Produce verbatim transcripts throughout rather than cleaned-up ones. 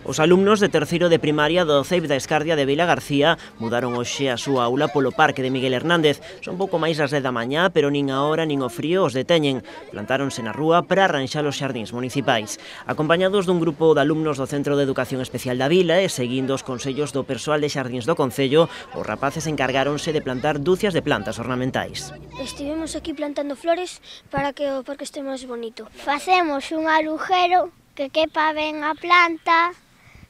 Os alumnos de terceiro de primaria do C E I P da Escardia de Vila García mudaron hoxe a súa aula polo Parque de Miguel Hernández. Son pouco máis das dez da mañá, pero nin a hora nin o frío os deteñen. Plantáronse na rúa para arranxar os xardíns municipais. Acompañados dun grupo de alumnos do Centro de Educación Especial da Vila e seguindo os consellos do persoal de xardíns do Concello, os rapaces encargáronse de plantar dúcias de plantas ornamentais. Estivemos aquí plantando flores para que o parque este máis bonito. Facemos un agujero que quepa ben a planta.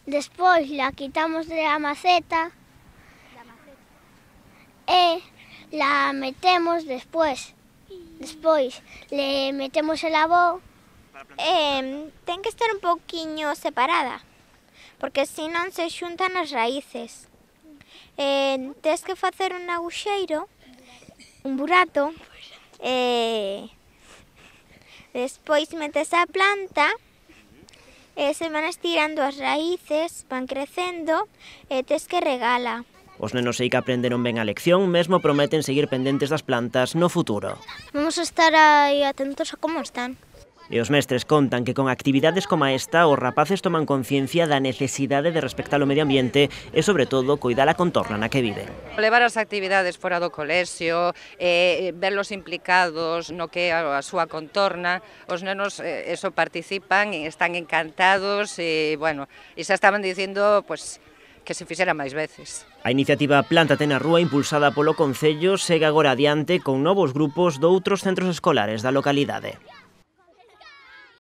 Despois la quitamos de la maceta e la metemos despois. Despois le metemos el abó. Eh, ten que estar un pouquiño separada, porque se non se xuntan as raíces. Eh, tens que facer un aguxeiro, un burato, e despois metes a planta. E se van estirando as raíces, van crecendo e tes que regala. Os nenos sei que aprenderon ben a lección, mesmo prometen seguir pendentes das plantas no futuro. Vamos a estar aí atentos a como están. E os mestres contan que con actividades como esta os rapaces toman conciencia da necesidade de respectar o medio ambiente e, sobre todo, coidar a contorna na que viven. Levar as actividades fora do colexio, eh, verlos implicados no que é a súa contorna, os nenos eh, eso participan e están encantados e, bueno, e xa estaban dicindo, pues, que se fixera máis veces. A iniciativa Plántate na Rúa, impulsada polo Concello, segue agora adiante con novos grupos doutros centros escolares da localidade.